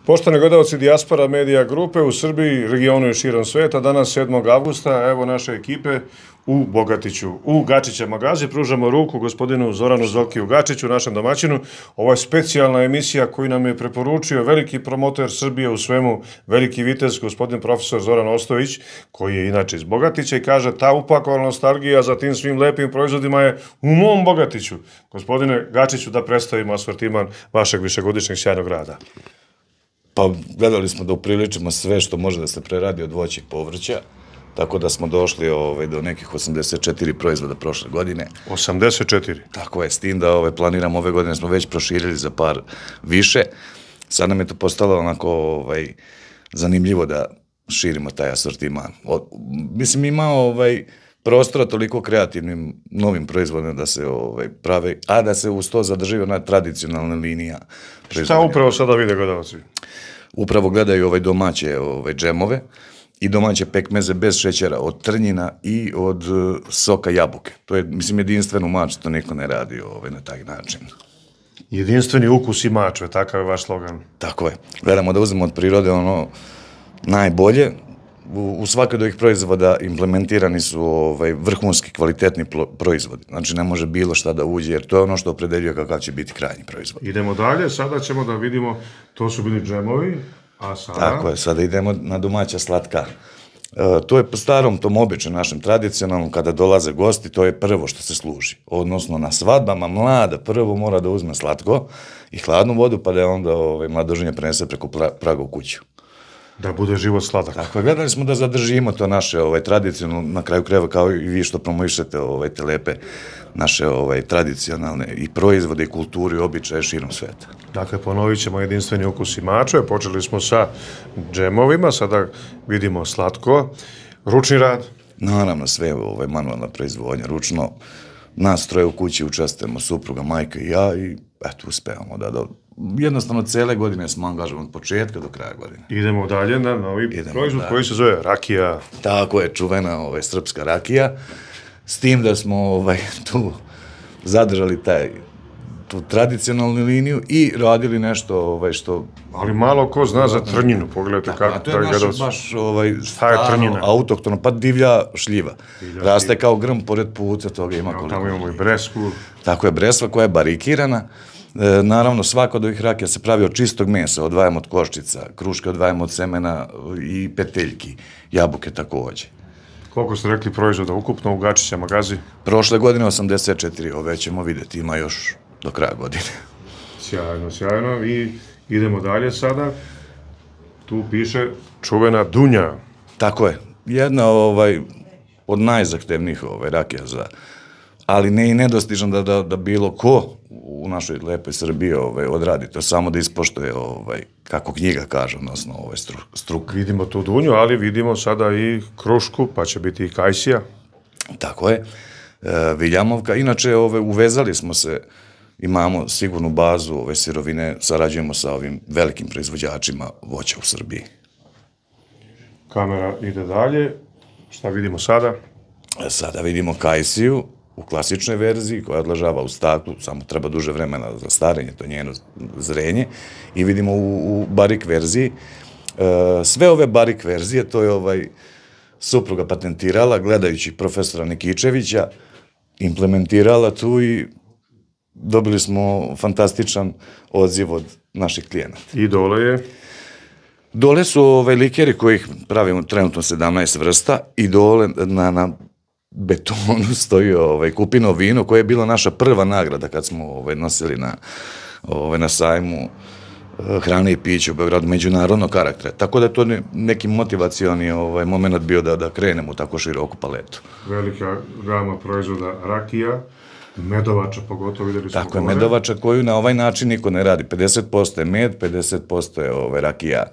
Poštovani gledalci Dijaspora Medija Grupe u Srbiji, regionu i širom sveta, danas 7. avgusta, evo naše ekipe u Bogatiću. U Gačića magazi pružamo ruku gospodinu Zoranu Zokiju Gačiću, našem domaćinu. Ovo je specijalna emisija koju nam je preporučio veliki promoter Srbije u svemu, veliki vitez, gospodin profesor Zoran Ostojić, koji je inače iz Bogatića i kaže ta upakovana nostalgija za tim svim lepim proizvodima je u mom Bogatiću. Gospodine Gačiću, da predstavimo asortiman vašeg višegodišnjeg sjajnog rada. Pa gledali smo da upriličimo sve što može da se preradi od voća i povrća, tako da smo došli do nekih 84 proizvoda prošle godine. 84? Tako je, s tim da planiramo ove godine, smo već proširili za par više. Sad nam je to postalo onako zanimljivo da širimo taj asortiman. Mislim, ima prostora toliko kreativnim novim proizvodima da se prave, a da se uz to zadrži ona tradicionalna linija. Šta upravo sada vide gledalci? Upravo gledaju domaće džemove i domaće pekmeze bez šećera, od trnjina i od soka jabuke. To je, mislim, jedinstven u maču, to niko ne radi na taj način. Jedinstveni ukus i mačve, takav je vaš slogan. Tako je. Gledamo da uzmemo od prirode ono najbolje. U svakoj od ovih proizvoda implementirani su vrhunski kvalitetni proizvodi. Znači, ne može bilo šta da uđe, jer to je ono što opredeljuje kakav će biti krajnji proizvod. Idemo dalje, sada ćemo da vidimo, to su bili džemovi, a sada... Tako je, sada idemo na domaća slatka. To je po starom, tom običaju našem tradicionalnom, kada dolaze gosti, to je prvo što se služi. Odnosno, na svadbama mlada prvo mora da uzme slatko i hladnu vodu, pa da je onda mladoženja prenese preko praga u kuću. Da bude život sladak. Tako je, gledali smo da zadržimo to naše tradicionalno, na kraju krajeva kao i vi što promovišete te lepe naše tradicionalne i proizvode i kulturu i običaje širom sveta. Dakle, ponovit ćemo jedinstveni ukus i mačve. Počeli smo sa džemovima, sada vidimo slatko. Ručni rad? Naravno, sve manualna proizvodnja, ručno. Nas troje u kući učestvujemo, supruga, majka i ja, i eto, uspevamo da jednostavno cele godine smo angažovani od početka do kraja godine. Idemo dalje na novi proizvod koji se zove rakija. Tako je, čuvena srpska rakija, s tim da smo tu zadržali tu tradicionalnu liniju i radili nešto što... Ali malo ko zna za trnjinu, pogledajte kako... To je baš stvarno autohtono, pa divlja šljiva. Raste kao grm pored puta, toga ima koliko. Tamo imamo i bresku. Tako je, bresva koja je barikirana. Naravno, svaka od ovih rakija se pravi od čistog mesa, odvajamo od koščica, kruške odvajamo od semena i peteljki, jabuke takođe. Koliko ste rekli proizvoda ukupno u Gačića magazi? Prošle godine 84, ove ćemo vidjeti, ima još do kraja godine. Sjajno, sjajno. I idemo dalje sada. Tu piše čuvena dunja. Tako je. Jedna od najzahtevnijih rakija za... ali ne i nedostižno da bilo ko u našoj lepoj Srbiji odradi to, samo da ispoštuje, kako knjiga kaže, odnosno struka. Vidimo tu dunju, ali vidimo sada i krušku, pa će biti i kajsija. Tako je, viljamovka. Inače, uvezali smo se, imamo sigurnu bazu sirovine, sarađujemo sa ovim velikim proizvođačima voća u Srbiji. Kamera ide dalje. Šta vidimo sada? Sada vidimo kajsiju u klasičnoj verziji koja odležava u staklu, samo treba duže vremena za starenje, to je njeno zrenje, i vidimo u barik verziji. Sve ove barik verzije, to je supruga patentirala, gledajući profesora Nikičevića, implementirala tu i dobili smo fantastičan odziv od naših klijenata. I dole je? Dole su likeri kojih pravimo trenutno 17 vrsta i dole na betonu stoji kupino vino koje je bila naša prva nagrada kad smo nosili na sajmu hrane i piće u Beogradu, međunarodnog karaktera. Tako da je to neki motivacioni moment bio da krenemo u tako široku paletu. Velika gama proizvoda rakija, medovača pogotovo, videli smo. Tako je, medovača koju na ovaj način niko ne radi. 50% je med, 50% je rakija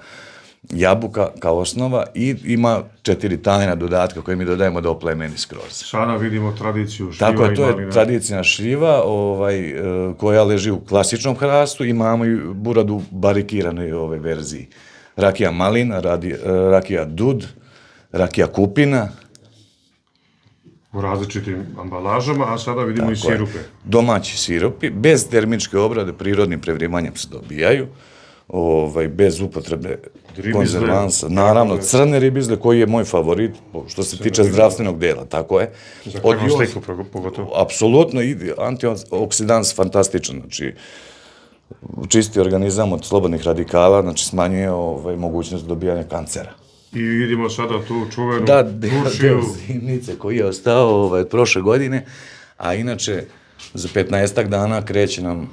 jabuka kao osnova i ima 4 tajna dodatka koje mi dodajemo da oplemeni skroz. Sada vidimo tradiciju šljiva i malina. Tako je, to je tradicija šljiva koja leži u klasičnom hrastu, imamo i buradu barikiranoj verziji. Rakija malina, rakija dud, rakija kupina. U različitim ambalažama, a sada vidimo i sirupe. Domaći sirupi, bez termičke obrade, prirodnim prevrimanjem se dobijaju. bez upotrebe Ribizle. konzervansa. Naravno, crne ribizle koji je moj favorit, što se tiče zdravstvenog dela, tako je. Za krvnu sliku pogotovo. Apsolutno, antioksidans fantastičan, znači čisti organizam od slobodnih radikala, znači smanjuje mogućnost dobijanja kancera. I vidimo sada tu čuvenu deo zimnice koji je ostao od prošle godine, a inače za 15 dana kreće nam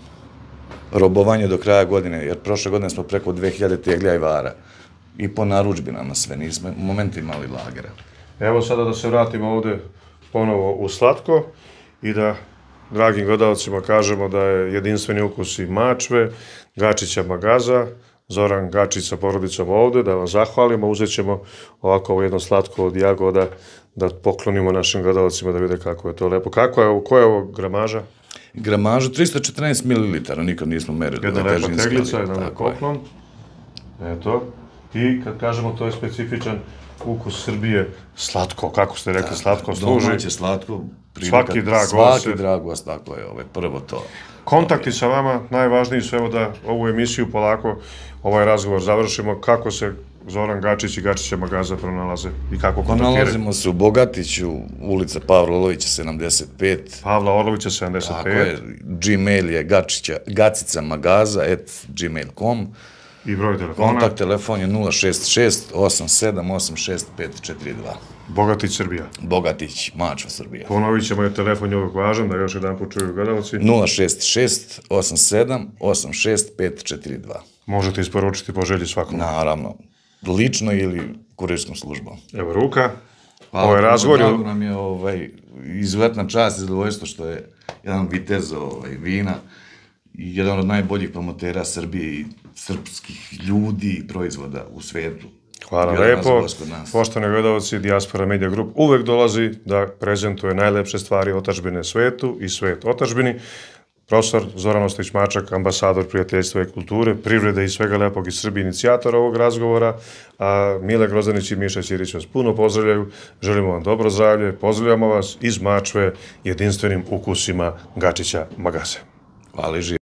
robovanje do kraja godine, jer prošle godine smo preko 2000 teglja i vara. I po narudžbinama sve, nismo u momentu imali lagera. Evo sada da se vratimo ovde ponovo u slatko i da dragim gledalcima kažemo da je jedinstveni ukus i mačve, Gačića Magaza, Zoran Gačić sa porodicom ovde, da vam zahvalimo, uzet ćemo ovako ovo jedno slatko od jagoda, da poklonimo našim gledalcima da vide kako je to lepo. Koja je ovo gramaža? Gramaža 314 ml, nikad nismo merili. Jedna lepa teglica, jedan poklon. Eto. I kad kažemo to je specifičan ukus Srbije, slatko, kako ste rekli, slatko služi. Domaće slatko. Svaki drag gost. Svaki drag gost, tako je, prvo to. Kontakti sa vama, najvažniji su, evo da ovu emisiju polako, ovaj razgovor završimo, kako se Zoran Gačić i Gačića Magaza pronalaze i kako kontaktiraju? Nalazimo se u Bogatiću, ulica Pavla Orlovića 75. Pavla Orlovića 75. Tako je, Gmail je gacicamagaza@gmail.com. I broj telefona? Kontakt telefon je 066 8786 542. Bogatić Srbija. Bogatić, Mačva Srbija. Ponovit ćemo je telefon je uvijek važan, da još jedan put čuju gledalci. 066 87 86 542. Možete isporučiti po želji svakom. Naravno, lično ili kurirskom službom. Evo ruka. Ovaj razgovor Drago nam je izuzetna čast i zadovoljstvo što je jedan vitez vina i jedan od najboljih promotera Srbije i srpskih ljudi i proizvoda u svetu. Hvala lepo. Poštovani gledalci, Dijaspora Media Group uvek dolazi da prezentuje najlepše stvari otadžbine svetu i svet otadžbini. Profesor Zoran Ostojić-Mačak, ambasador prijateljstva i kulture, privrede i svega lepog iz Srbije, inicijator ovog razgovora, a Mile Grozdanić i Miša Ćirić vas puno pozdravljaju. Želimo vam dobro zdravlje, pozdravljamo vas iz Mačve jedinstvenim ukusima Gačića Magaze. Hvala i živjeti.